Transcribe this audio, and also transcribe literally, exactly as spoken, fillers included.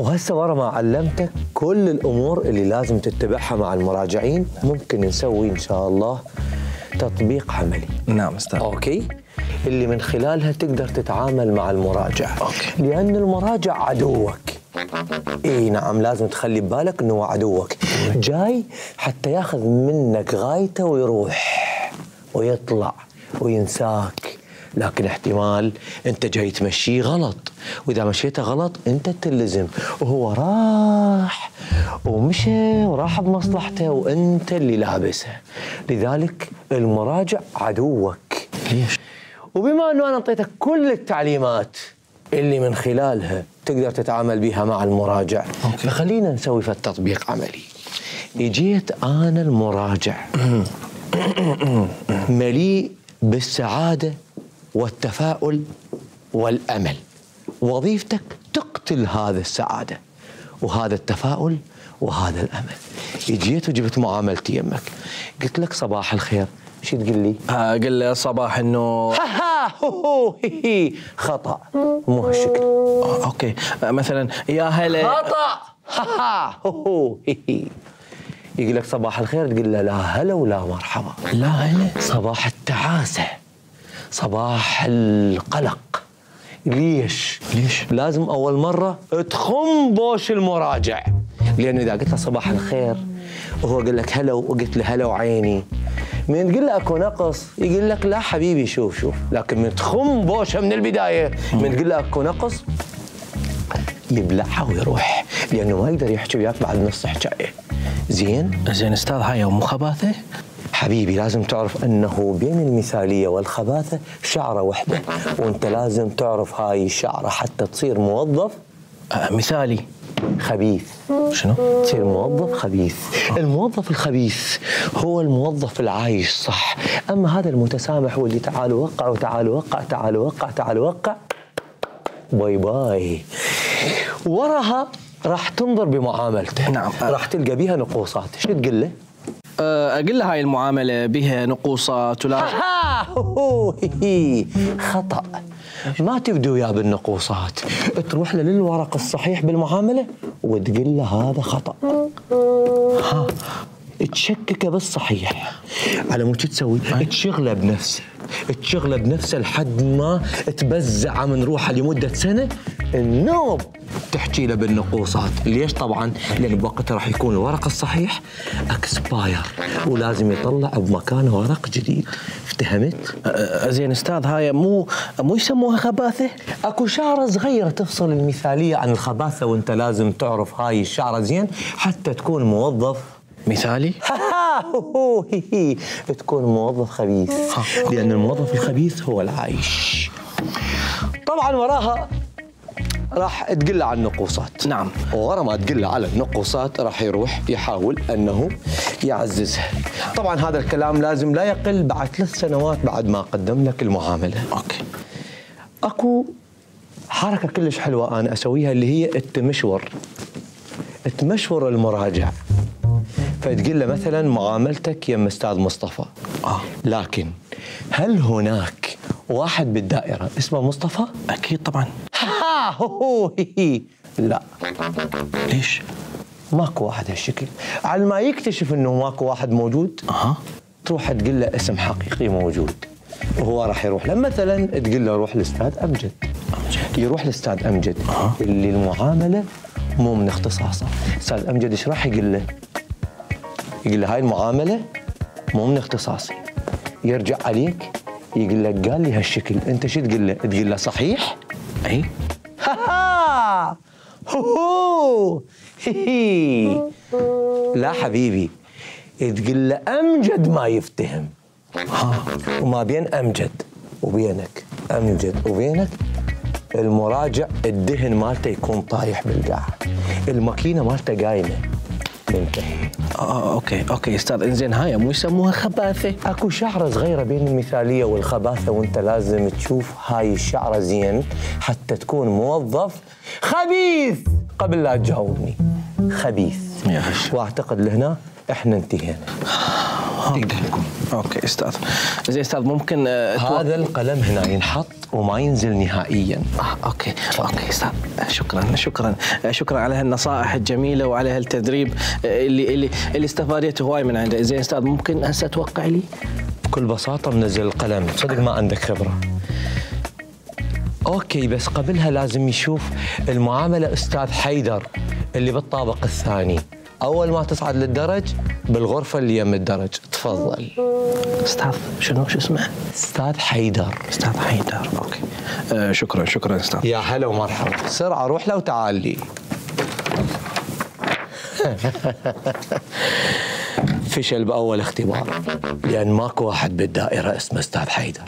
وهسه ورا ما علمتك كل الامور اللي لازم تتبعها مع المراجعين، ممكن نسوي ان شاء الله تطبيق عملي. نعم استاذ. اوكي، اللي من خلالها تقدر تتعامل مع المراجع. اوكي. لان المراجع عدوك. اي نعم، لازم تخلي ببالك انه هو عدوك، جاي حتى ياخذ منك غايته ويروح ويطلع وينساك. لكن احتمال انت جاي تمشيه غلط، واذا مشيته غلط انت تلزم، وهو راح ومشى وراح بمصلحته وانت اللي لابسها. لذلك المراجع عدوك. ليش؟ وبما انه انا اعطيتك كل التعليمات اللي من خلالها تقدر تتعامل بها مع المراجع، أوكي. فخلينا نسوي في التطبيق عملي. اجيت انا المراجع مليء بالسعاده والتفاؤل والامل، وظيفتك تقتل هذا السعاده وهذا التفاؤل وهذا الامل. اجيت وجبت معاملتي يمك، قلت لك صباح الخير، شو تقول لي؟ اقول له صباح انه ها ها هو هي هي خطا، مو هالشكل. اوكي، مثلا يا هلا. خطا. ها ها هو هي هي. يقول لك صباح الخير، تقول له لا هلا ولا مرحبا. لا هلا. صباح التعاسه، صباح القلق. ليش؟ ليش؟ لازم اول مره تخم بوش المراجع، لانه اذا قلت له صباح الخير وهو قال لك هلا وقلت له هلا وعيني، من تقول له اكو نقص يقول لك لا حبيبي شوف شوف، لكن من تخم بوشه من البدايه، من تقول له اكو نقص يبلعها ويروح، لانه ما يقدر يحكي وياك بعد نص حكايه. زين؟ زين استاذ، هاي مو خباثه؟ حبيبي لازم تعرف انه بين المثاليه والخباثه شعره واحده، وانت لازم تعرف هاي الشعره حتى تصير موظف آه مثالي خبيث. شنو؟ تصير موظف خبيث. الموظف الخبيث هو الموظف العايش صح، اما هذا المتسامح واللي تعال وقع وتعال وقع تعال وقع تعال وقع باي باي. وراها راح تنظر بمعاملته. نعم. راح تلقى بيها نقوصات، شو تقول له؟ اقول له هاي المعامله بها نقوصات ولا ها هو هي خطا. ما تبدو وياه بالنقوصات، تروح له للورق الصحيح بالمعامله وتقول له هذا خطا. ها تشككه بالصحيح. على مو تسوي؟ تشغله بنفسه، تشغله بنفسه لحد ما تبزع من روحه لمده سنه. النوب تحكي له بالنقوصات. ليش؟ طبعا لان بوقتها راح يكون الورق الصحيح اكسباير، ولازم يطلع بمكانه ورق جديد. افتهمت؟ زين استاذ، هاي مو مو يسموها خباثه؟ اكو شعره صغيره تفصل المثاليه عن الخباثه، وانت لازم تعرف هاي الشعره زين حتى تكون موظف مثالي. هو هي هي تكون موظف خبيث، لان الموظف الخبيث هو العايش. طبعا وراها راح تقول له على النقوصات. نعم. ورا ما تقول له على النقوصات راح يروح يحاول انه يعززها. طبعا هذا الكلام لازم لا يقل بعد ثلاث سنوات بعد ما قدم لك المعامله. اوكي. اكو حركه كلش حلوه انا اسويها اللي هي التمشور. تمشور المراجع، فتقول له مثلا معاملتك يم استاذ مصطفى، آه. لكن هل هناك واحد بالدائره اسمه مصطفى؟ اكيد طبعا. ها هو هي لا. ليش؟ ماكو واحد هالشكل. على ما يكتشف انه ماكو واحد موجود، اها تروح تقول له اسم حقيقي موجود، وهو راح يروح له. مثلا تقول له روح لاستاذ امجد، امجد يروح لاستاذ امجد أه. اللي المعامله مو من اختصاصه. استاذ امجد ايش راح يقول له؟ يقول له هاي المعامله مو من اختصاصي. يرجع عليك يقول لك قال لي هالشكل، انت شو تقول له؟ تقول له صحيح؟ اي ها ها هو هي لا حبيبي، تقول له امجد ما يفتهم. ها وما بين امجد وبينك، امجد وبينك المراجع الدهن مالته يكون طايح بالقاع، الماكينه مالته قايمه. منتهي. اه اوكي اوكي استاذ، انزين هاي مو يسموها خباثه؟ اكو شعره صغيره بين المثاليه والخباثه، وانت لازم تشوف هاي الشعره زين حتى تكون موظف خبيث قبل لا تجاوبني. خبيث. يا هش. واعتقد لهنا احنا انتهينا. تقدر تقول. اوكي استاذ. زين استاذ ممكن آه هذا القلم هنا ينحط وما ينزل نهائيا. آه اوكي اوكي استاذ، شكرا شكرا شكرا على هالنصائح الجميله وعلى هالتدريب اللي اللي اللي استفادته هواي من عنده. زين استاذ ممكن هسه توقع لي؟ بكل بساطه منزل القلم، صدق ما عندك خبره. اوكي بس قبلها لازم يشوف المعامله استاذ حيدر اللي بالطابق الثاني. اول ما تصعد للدرج بالغرفه اللي يم الدرج. تفضل. استاذ شنو شو اسمه؟ استاذ حيدر. استاذ حيدر. اوكي آه شكرا شكرا استاذ. يا هلا ومرحبا. بسرعه روح له وتعال لي. فشل باول اختبار لان ماكو واحد بالدائره اسمه استاذ حيدر.